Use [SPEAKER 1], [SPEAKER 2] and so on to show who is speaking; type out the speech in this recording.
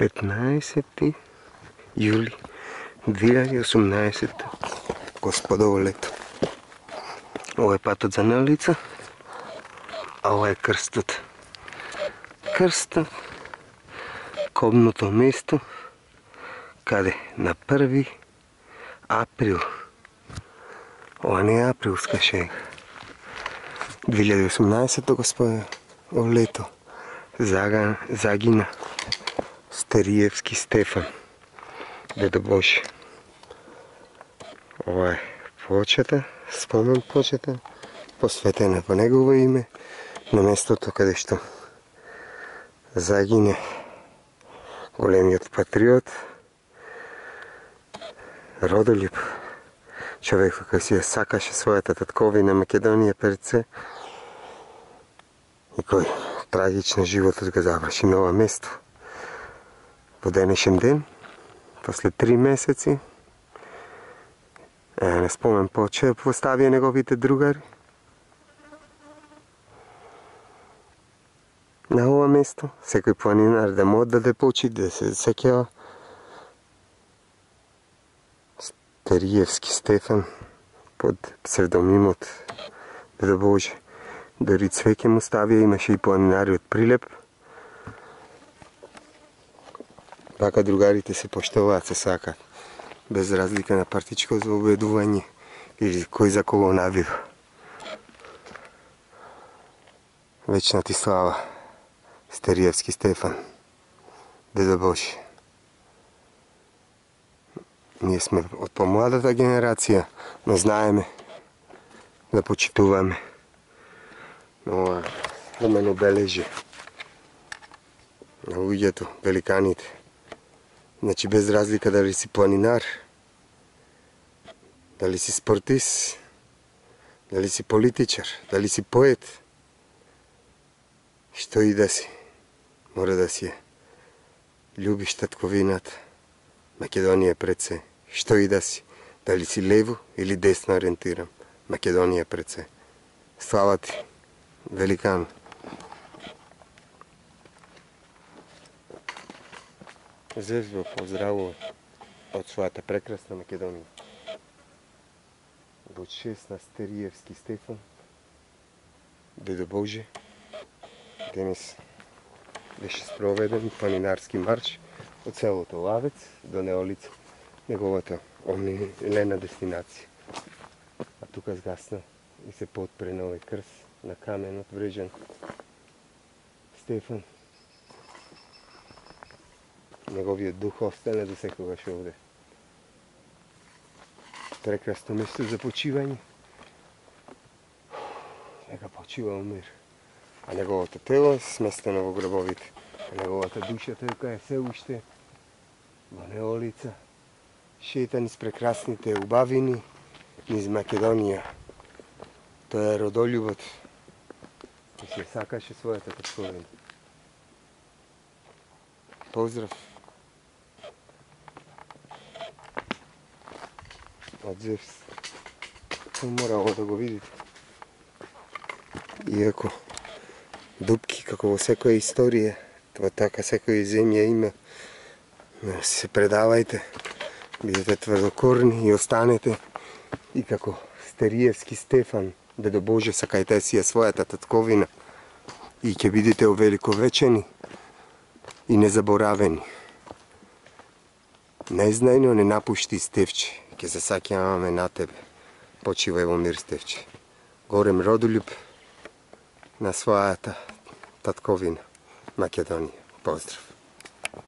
[SPEAKER 1] 15. јули 2018. Господово лето. Ова е патот за Неолица, а ова е крстот. Крстот, кобното место, каде на 1. април, ова не е априлска шега, 2018 господово лето, загина Стериевски Стефан, Дедо Боже. Ова е плочата, спомен плочата, посветена по негово име, на местото каде што загине големиот патриот, родолюб, човек кој си ја сакаше својата татковина Македонија пред се и кој трагично животот го заврши на ова место. Во денешен ден, после 3 месеци, на спомен поче поставија неговите другари на ова место, секој планинар да му отдаде почит, да се сеќава Стериевски Стефан под псевдонимот Дедо Боже. Дори цвеќе му ставија, имаше и планинари од Прилеп. Така другарите се поштоваат, се сакаат, без разлика на партичко заобедување или кој за кого навива. Вечна ти слава, Стериевски Стефан, Дедо Боже. Ние сме од помладата генерација, но знаеме да почитуваме на ова спомен обележје на луѓето, великаните. Значи без разлика дали си планинар, дали си спортист, дали си политичар, дали си поет, што и да си, мора да си љубиш татковината, Македонија пред се, што и да си, дали си лево или десно ориентиран, Македонија пред се. Слава ти, великан. Зев го поздравува од својата прекрасна Македонија. Во чест на Стериевски Стефан, Дедо Боже, денес беше спроведен планинарски марш од селото Лавец до Неолица, неговата омилена дестинација. А тука згасна и се подпре на овој крст на каменот врежан Стефан. Неговиот дух остане до секогаш овде. Прекрасно место за почивање. Нека почива во мир. А неговото тело е сместено во гробовите. А неговата душа тој е се уште во Неолица. Шета низ прекрасните убавини, низ Македонија. Тој е родолюбот. И се сакаше својата татковина. Поздрав од Зевс. Морало да го видите. Иако дупки, како во секоја историја, тоа така секоја земја има, се предавајте, бидете тврдокорни и останете и како Стериевски Стефан, Дедо Боже, сакајте си ја својата татковина и ќе бидете увеликовечени и незаборавени. Незнајно не напушти Стефче, ќе се саќаваме на тебе. Почивај во мир, Стефче. Горем родолюб на својата татковина Македонија. Поздрав.